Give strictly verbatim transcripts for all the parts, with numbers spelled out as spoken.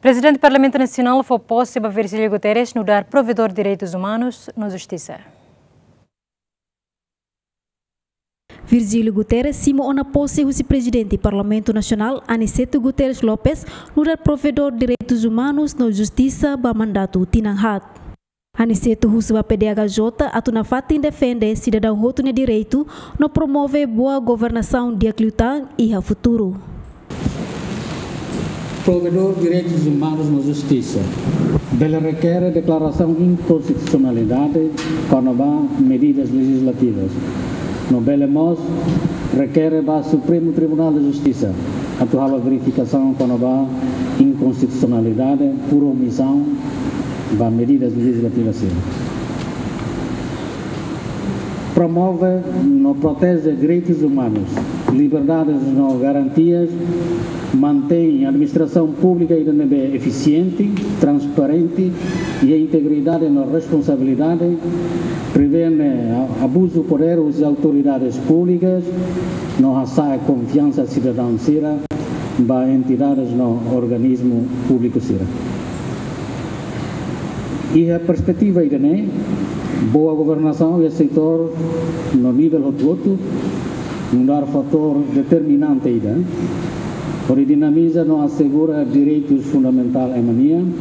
Prezidente Parlamentu Nasionál fó pose ba Virgílio Guterres nu'udar Provedór Direitus Umanus no Justisa. Virgílio Guterres simu ona pose husi Prezidente Parlamentu Nasionál, Aniceto Guterres Lopes, nu'udar Provedór Direitus Umanus no Justisa ba mandatu tinan haat. Aniceto husu ba P D H J atu nafatin defende sidadaun hotu nia direitu no promove boa governasaun di'ak liután iha futuru. Provedór Direitus Umanus no Justisa bele rekere deklarasaun inkonstitusionalidade kona-ba medidas lejizlativas. No bele mós rekere ba Supremu Tribunál de Justisa atu halo verifikasaun kona-ba inkonstitusionalidade por omisaun ba medidas lejizlativas sira. Promove no proteje direitus umanus, liberdades no garantias, mantein administrasaun públika ida ne'ebé efisiente, transparente, iha integridade no responsabilidade, prevene a-, abuzu podér husi autoridades públikas, no hasa'e konfiansa sidadaun sira ba entidades no organismu públiku sira. Iha perspetiva ida-ne'e, boa governasaun iha setór no nivel hotu-hotu nu'udar fatór determinante ida hodi dinamiza no asegura direitus fundamentál ema nian,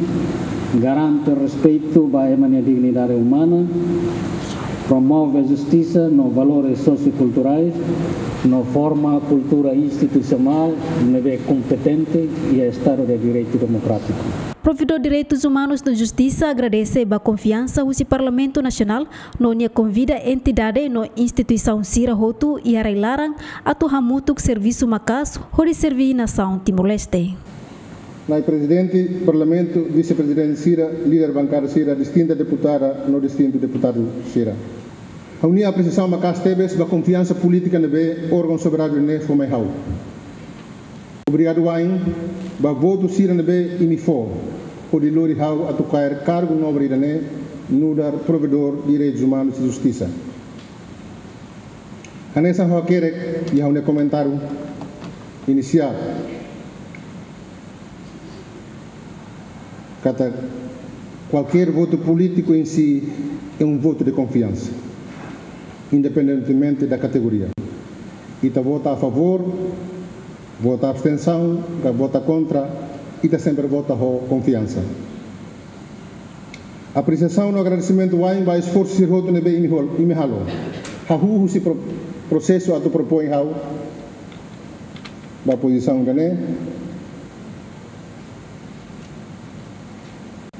garante respeitu ba ema nia dignidade umana, promove justisa no valores sosiokulturais, no forma kultura institusionál ne'ebé kompetente iha Estadu de Direitu Demokrátiku. Provedór Direitus Umanus no Justisa agradese ba konfiansa husi Parlamentu Nasionál no nia konvida entidade no instituisaun sira hotu iha rai-laran atu hamutuk servisu maka'as hodi serví nasaun Timor-Leste. Na'i Prezidente Parlamentu, Vise-Prezidente sira, líder bankada sira, distinta deputada no distintu deputadu sira. Ha'u-nia apresiasaun maka'as tebes ba konfiansa polítika ne'ebé órgaun soberanu ne'e fó mai ha'u. Obrigadu wa'in ba votu sira ne'ebé imi fó hodi lori ha'u atu kaer kargu nobre ida-ne'e nu'udar Provedór Direitus Umanus no Justisa. Hanesan ha'u hakerek iha ha'u-nia komentáriu inisiál katak kualkér votu polítiku em si é um voto de confiança, independentemente da categoria. Ita vota a favór, vota abstensaun, ka vota kontra, ita sempre vota ho konfiansa. Apresiasaun no agradesimentu wa'in ba esforsu sira hotu ne'ebé imi hol-, imi halo. Hahú husi pro-, prosesu atu propoin ha'u ba pozisaun ida-ne'e.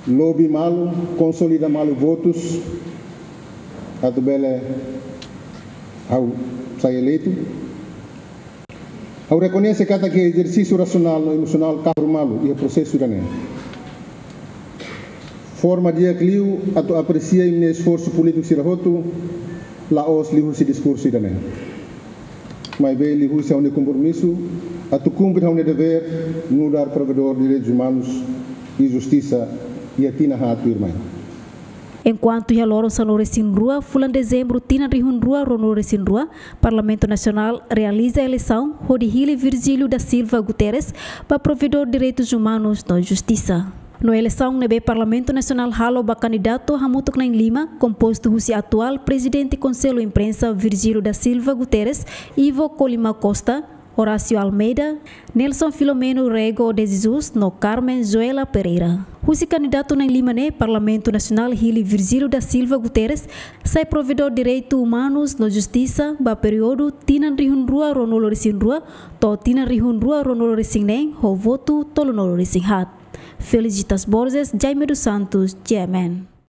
Lobi malu, konsolida malu votus atu bele ha'u sai eleitu. Ha'u rekoñese katak ezersísiu rasionál no emosionál kahur malu iha prosesu ida-ne'e. Forma di'ak liu atu apresia imi-nia esforsu polítiku sira hotu, la'ós liuhusi diskursu ida-ne'e, maibé liuhusi ha'u-nia kompromisu atu kumpre ha'u-nia devér nu'udar Provedór Direitus Umanus i Justisa iha tinan haat tuirmai. Enkuantu iha loron sanulu-resin-rua fulan Dezembru tinan rihun rua ruanulu-resin-rua, Parlamentu Nasionál realiza eleisaun hodi hili Virgílio da Silva Guterres ba Provedór Direitus Umanus no Justisa. No eleisaun ne'ebé Parlamentu Nasionál halo ba kandidatu hamutuk na'in-lima, kompostu husi atuál Prezidente Konsellu Imprensa Virgílio da Silva Guterres, Ivo Colima Costa, Horácio Almeida, Nelson Filomeno Rego de Jesus no Carmen Joela Pereira. Husi kandidatu na'in-lima ne'e, Parlamentu Nasionál hili Virgílio da Silva Guterres sai Provedór Direitus Umanus no Justisa ba períodu tinan rihun rua ruanulu-resin-rua to'o tinan rihun rua ruanulu-resin-neen ho votu tolunulu-resin-haat. Felicitas Borges, Jaime dos Santos, G M N.